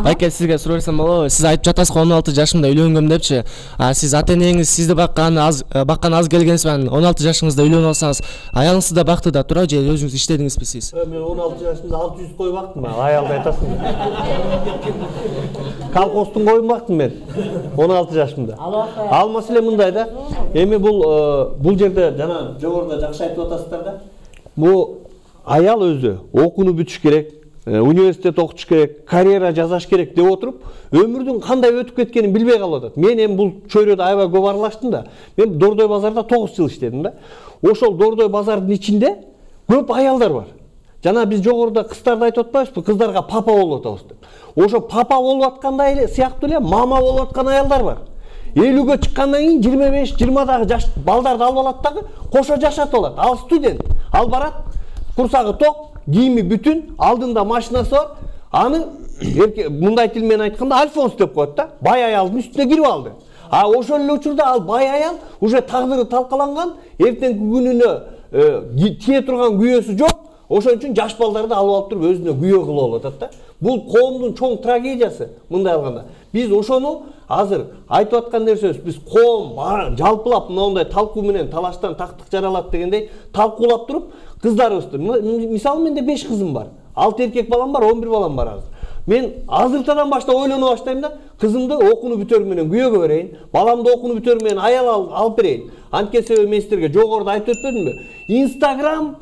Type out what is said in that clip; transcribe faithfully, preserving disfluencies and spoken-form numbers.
Байке, сизге суроо берсем болобу? Сиз айтып жатасыз он алты жашымда үйлөнгөм депчи. А сиз ата-энеңиз сизди баккан аз баккан аз келгенсиз менен он алты жашыңызда үйлөнүп алсаңыз, аялыңыз да бакты да тура же өзүңүз иштедиңизби сиз? Мен он алты жашымда алты жүз кой бактым, аялды айтасың. Колхоздун койун бактым мен он алты жашымда. Ал маселе мындай да. Эми бул бул жерде жана жогоруда жакшы айтып атасыздар да. Бул аял өзү окууну бүтүш керек, университет окутуш керек, карьера жасаш керек деп отуруп, өмүрдүн кандай өтүп кеткенин билбей калып атат. Мен эми бул чөйрөдө аябай көп аралаштым да. Мен Дордой базарда тогуз жыл иштедим да. Ошол Дордой базардын ичинде көп аялдар бар. Жана биз жогоруда кыздарды айтып атпайбызбы? Кыздарга папа болуп атабыз деп. Ошо папа болуп аткандай эле сыяктуу эле мама болуп аткан аялдар бар. элүүгө чыккандан кийин жыйырма беш жыйырмадагы жаш балдарды алып алат дагы кошо жашатып алат. Ал студент. Ал барат, курсагы ток, кийими бүтүн, алдында машинасы бар. Аны мындай тил менен айтканда Альфонс деп коет да. Бай аялдын үстүнө кирип алды. А ошол эле учурда ал бай аял уже тагдыры талкаланган, эртеңки күнүнө тие турган күйөөсү жок. Ошон үчүн жаш балдарды алып алып туруп өзүнө күйөө кылып алып атат да. Бул коомдун чоң трагедиясы мындай алганда. Биз ошону азыр айтып аткан нерсебиз, биз коом жалпылап мындай талкуу менен талаштан тактык жаралат дегендей талкуулап туруп, кыздарыбызды, мисалы менде беш кызым бар. алты эркек балам бар, он бир балам бар азыр. Мен азыртадан баштап ойлоно баштайм да, кызымды окууну бүтөрү менен күйөөгө берейин, баламды окууну бүтөрү менен аял алып берейин. Анткени себеби мен силерге жогоруда айтып өтпөдүмбү? Instagram,